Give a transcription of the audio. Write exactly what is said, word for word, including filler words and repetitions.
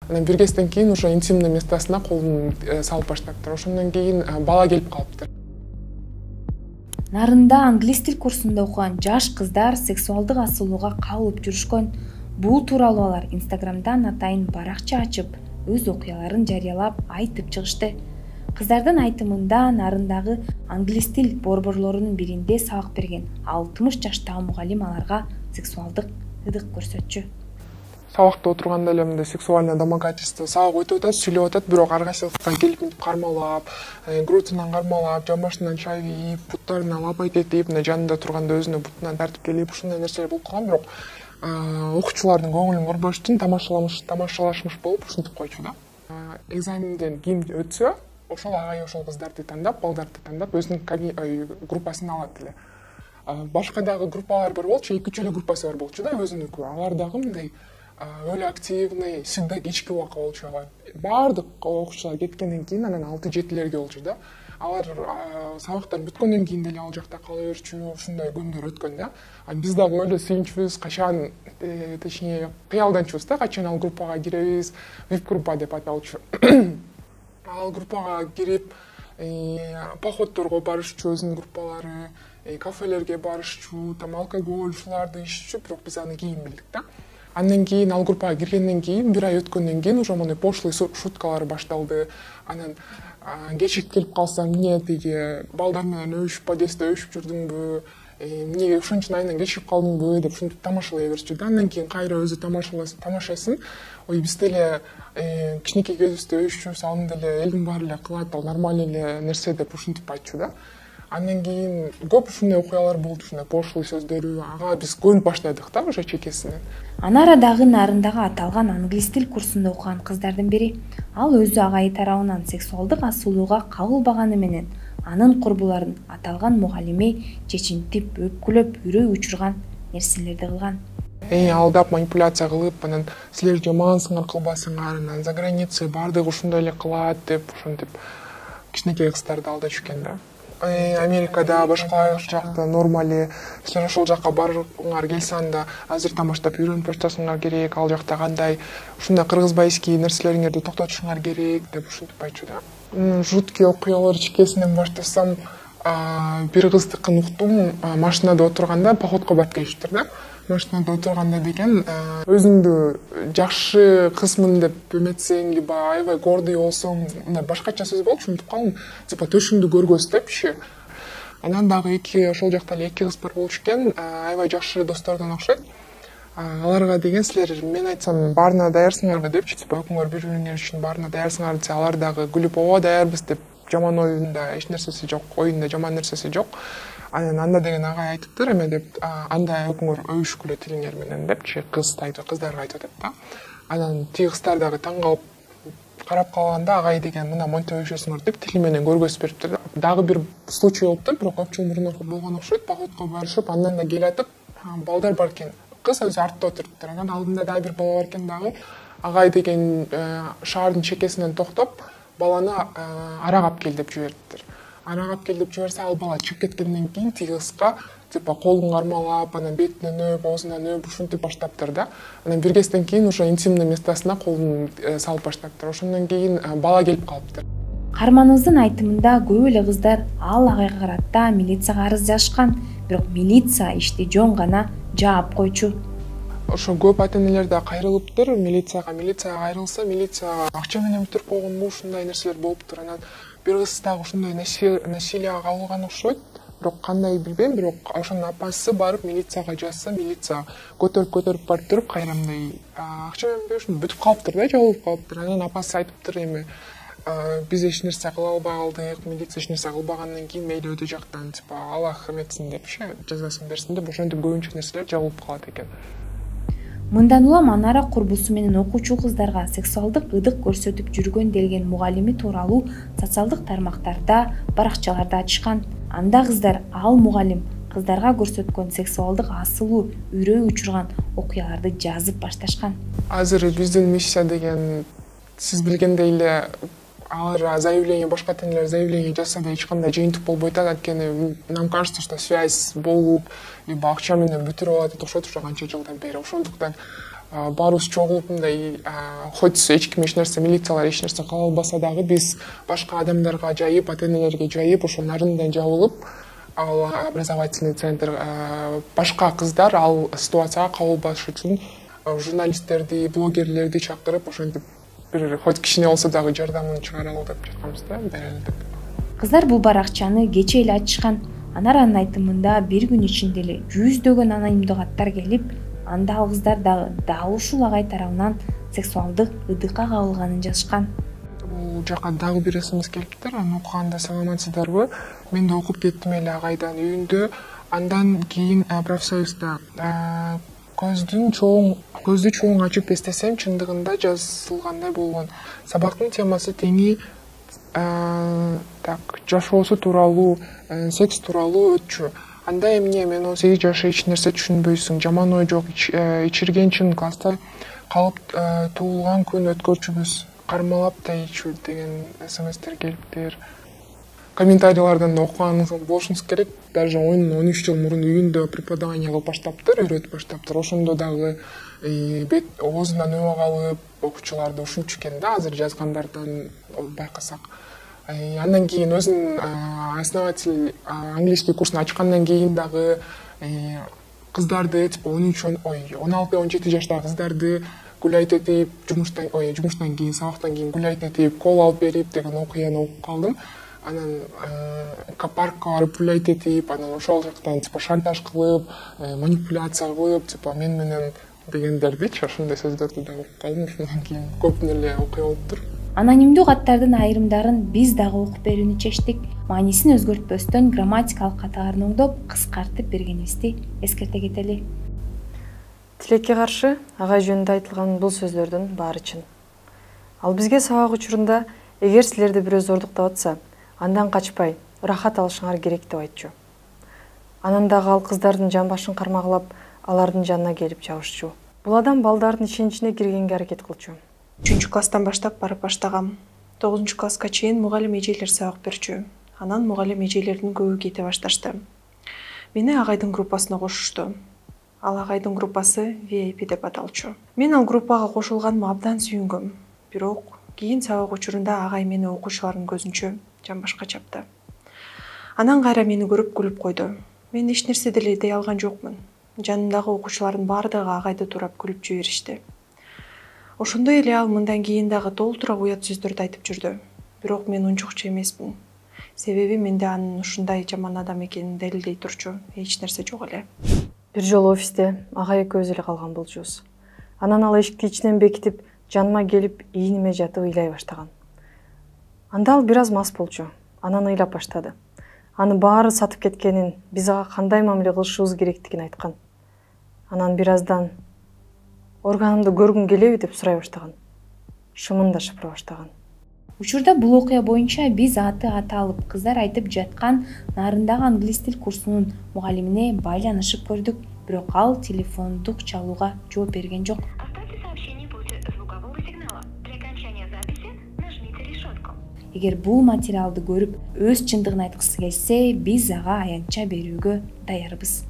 Анан бир кезден кийин уже интимный местосуна колун салып баштаптыр. Ошондон кийин бала келип калыптыр. Нарында англис тил курсунда окуган жаш кыздар сексуалдык асуулууга кабылып жүрүшкөн. Бул тууралуу алар Инстаграмдан атайын баракча ачып, өз окуяларын жарыялап айтып чыгышты. Кыздардын айтымында Нарындагы англис тил борборлорунун биринде сабак берген алтымыш жаштагы мугалим аларга сексуалдык ыдык көрсөтчү. Сабакта отурганда эле мындай сексуальное домогательство сабак өтүп атат, сүйлөп атат, бирок ар кайсыбызга келип кармалап, грудунан кармалап, жамбашынан чайып, буттарына лапайт этип, мына жанында турганда өзүнө бутунан тартып келип, ушундай нерселер болуп калган, бирок окуучулардын көңүлүн көрбөш үчүн тамашаламыш, тамашалашмыш болуп ушинтип койчу да. Экзаменден ким өтсө, ошол агай ошол кыздарды тандап, балдарды тандап, өзүнүн группасына алат эле. Башка дагы группалар бар болчу, эки үч эле группасы бар болчу да, өзүнүкү. Алар дагы мындай өлө активный, всегда кечки убакка болчу. Баардык окуучулар кеткенден кийин анан алты жетилерге болчу да. Алар сабактар бүткөндөн кийин деле ал жакта кала берчү, ушундай күндөр өткөн да. Биз дагы эле сүйүнчүбүз, качан, точнее, кыялданчубуз да, качан ал группага киребиз, вип группа деп аталчу. Ал группага кирип, походторго барышчу өзүнүн группалары, кафелерге барышчу, там алкоголь ушуларды иччү, бирок биз аны кийин билдик да. Андан кийин ал группага киргенден кийин, бир ай өткөндөн кийин уже моундай пошлый шуткалар башталды. Анан кечик келип калсаң, эмне тиги балдар менен өбүшүп, подъездде өбүшүп жүрдүңбү, эмнеге ушунча айынан кечигип калдыңбы деп ушинтип тамашалай берчү да. Андан кийин кайра өзү тамашасын. Ой, биз деле кичинекей кезибизде өбүшчүбүз, аны деле элдин баары эле кылат, ал нормальный эле нерсе деп ушинтип айтчу да. Андан кийин көп ушундай окуялар болду, ушундай пошлый сөздөрү, ага биз көнүп баштадык да уже чекесинен. Анарадагы Нарындагы аталган англис тил курсунда окуган кыздардын бири. Ал өзү агайы тарабынан сексуалдык асуулууга кабылбаганы менен анын курбуларын аталган мугалими чечинтип, өпкүлөп, үрөй учурган нерселерди кылган. Эй, алдап, манипуляция кылып, анан силер жамансыңар, кылбасыңар, анан за границей баардыгы ушундай эле кылат деп ушинтип кичинекей кыздарды алдашып экен да. Америкада, башка жакта нормали, силер ошол жакка баргыңар келсе анда азыр тамаштап үйрөнүп башташыңар керек, ал жакта кандай, ушундай кыргызбайский нерселериңерди токтотушуңар керек деп ушинтип айтчу да. Жуткий окуялар чекесинен баштасам, бир кыздыкын уктум, машинада отурганда походко барып келиптир да. Машинада отурганда деген өзүңдү жакшы кызмын деп эметсең, либо аябай гордый болсоң, мындай башкача сөз болчу, унутуп калдым. Типа төшүңдү көргөз депчи. Анан дагы эки ошол жакта эле эки кыз бар болчу экен, аябай жакшы достордон окшойт. Аларга деген силер мен айтсам баарына даярсыңарбы депчи, типа экөөңөр бири-бириңер үчүн баарына даярсыңар десе, алар дагы күлүп ооба даярбыз деп, жаман оюнда эч нерсеси жок, оюнда жаман нерсеси жок. Анан анда деген агай айтыптыр, эме деп, анда экөөңөр өбүшкүлө тилиңер менен депчи, кыз айтып, кыздарга айтып атат да. Анан тиги кыздар дагы таң калып карап калганда агай деген мына монтип өбүшөсүңөр деп тили менен көргөзүп бериптир да. Дагы бир случай болуптур, бирок көп жыл мурун болгон окшойт, походко барышып, андан да келатып, балдар бар экен. Кыз өзү артта отуруптур, анан алдында дагы бир бала бар экен дагы. Агай деген шаардын чекесинен токтоп, баланы ара кап кел деп жибериптир. Ара кап кел деп жиберсе, ал бала чыгып кеткенден кийин тиги кызга типа колун кармалап, анан бетинен өп, оозунан өп, ушинтип баштаптыр да. Анан бир кезден кийин уже интимный местосуна колун салып баштаптыр. Ошондон кийин бала келип калыптыр. Каарманыбыздын айтымында көп эле кыздар ал агайга карата милицияга арыз жазышкан, бирок милиция ишти жөн гана жаап койчу. Ошо көп ата-энелер да кайрылыптыр милицияга. Милицияга кайрылса, милиция акча менен бүтүрүп койгонбу, ушундай нерселер болуптур. Анан бир кыз дагы ушундай насилияга кабылган окшойт, бирок кандай билбейм, бирок ошонун апасы барып милицияга жазса, милиция көтөрүп көтөрүп барып туруп кайрамдай акча менен беришин бүтүп калыптыр да, жабылып калыптыр. Анан апасы айтыптыр, эми биз эч нерсе кыла албай калдык, милиция эч нерсе кылбагандан кийин мейли өтө жактан типа Аллах эметсин депчи, жазасын берсин деп ошентип көбүнчө нерселер жабылып калат экен. Мындан улам Анара курбусу менен окуучу кыздарга сексуалдык ыдык көрсөтүп жүргөн делген мугалими тууралуу социалдык тармактарда, баракчаларда ачышкан. Анда кыздар ал мугалим кыздарга көрсөткөн сексуалдык асылуу, үрөй учурган окуяларды жазып башташкан. Азыр биздин миссия деген сиз билгендей эле алар заявление, башка ата-энелер заявление жазса да эч кандай жыйынтык болбойт, анткени нам кажется, что связь болуп, либо акча менен бүтүрүп алат окшойт уже канча жылдан бери. Ошондуктан баарыбыз чогулуп мындай хоть эч ким эч нерсе, милициялар эч нерсе кыла албаса дагы биз башка адамдарга жайып, ата энелерге жайып, ошо нарындан жабылып, ал образовательный центр башка кыздар ал ситуацияга кабылбаш үчүн журналисттерди, блогерлерди чакырып, ошентип бир хоть кичине болсо дагы жардамын чыгаралы деп жатканбыз да, берели деп. Кыздар бул баракчаны кече эле ачышкан. Анаранын айтымында бир күн ичинде эле жүздөгөн анонимдик аттар келип, анда ал кыздар дагы дал ушул агай тарабынан сексуалдык ыдыкка кабылганын жазышкан. Бул жака дагы бир смс келиптир. Аны окуганда саламатсыздарбы? Мен да окуп кеттим эле агайдан үйүндө. Андан кийин профсоюзда көздүн чоң көздү чоң ачып эстесем, чындыгында жазылгандай болгон. Сабактын темасы теңи так жашоосу тууралуу, секс тууралуу өтчү. Анда эмне мен он сегиз жашы эч нерсе түшүнбөйсүң, жаман ой жок, ичиргенчин, класста калып туулган күн өткөрчүбүз, кармалап да ичүү деген смстер келиптир. Комментарийлерден да окуганыңыз болушуңуз керек. Даже он он үч жыл мурун үйүндө преподавание кылып баштаптыр, үйрөтүп баштаптыр. Ошондо дагы бет оозунан өбө калып, окуучуларды ушунчу экен да, азыр жазгандардан байкасак. Андан кийин өзүнүн основатель английский курсун ачкандан кийин дагы кыздарды типа он үч ой он алты он жети жаштагы кыздарды гулять этип, жумуштан ой жумуштан кийин, сабактан кийин гулять этип, кол алып берип деген окуяны окуп калдым. Анан паркка барып гулять этип, анан ошол жактан типа шантаж кылып, манипуляция кылып, типа мен менен дегендердичи, ошондой сөздөрдү да окуп калдым. Ошондон кийин көп эле окуя болуптур. Анонимдүү аттардын айрымдарын биз дагы окуп берүүнү чечтик. Маанисин өзгөртпөстөн грамматикалык каталарын оңдоп, кыскартып бергенибизди эскерте кетели. Тилекке каршы агай жөнүндө айтылган бул сөздөрдүн баары чын. Ал бизге сабак учурунда эгер силерди бирөө зордуктап атса, андан качпай, ырахат алышыңар керек деп айтчу. Анан дагы ал кыздардын жан башын кармагылап, алардын жанына келип жабышчу. Бул адам балдардын ишеничине киргенге аракет кылчу. үчүнчү класстан баштап барып баштагам. тогузунчу класска чейин мугалим эжелер сабак берчү. Анан мугалим эжелердин көбү кете башташты. Мени агайдын группасына кошушту. Ал агайдын группасы ви ай пи деп аталчу. Мен ал группага кошулганыма абдан сүйүнгөм. Бирок кийин сабак учурунда агай мени окуучулардын көзүнчө жан башка чапты. Анан кайра мени көрүп күлүп койду. Мен эч нерсе деле дей алган жокмун. Жанымдагы окуучулардын баардыгы агайды турап күлүп жиберишти. Ошондой эле ал мындан кийин дагы толтура уят сөздөрдү айтып жүрдү. Бирок мен унчукчу эмесмин. Себеби менде анын ушундай жаман адам экенин далилдей турчу эч нерсе жок эле. Бир жолу офисте агай экөөбүз эле калган болчубуз. Анан ал эшикти ичинен бекитип, жаныма келип, ийниме жатып ыйлай баштаган. Анда ал бир аз мас болчу. Анан ыйлап баштады. Аны баары сатып кеткенин, биз ага кандай мамиле кылышыбыз керектигин айткан. Анан бир аздан органымды көргүң келеби деп сурай баштаган. Шымын да шыпыра баштаган. Учурда бул окуя боюнча биз аты аталып, кыздар айтып жаткан нарындагы англис тил курсунун мугалимине байланышып көрдүк, бирок ал телефондук чалууга жооп берген жок. Эгер бул материалды көрүп, өз чындыгын айткысы келсе, биз ага аянтча берүүгө даярбыз.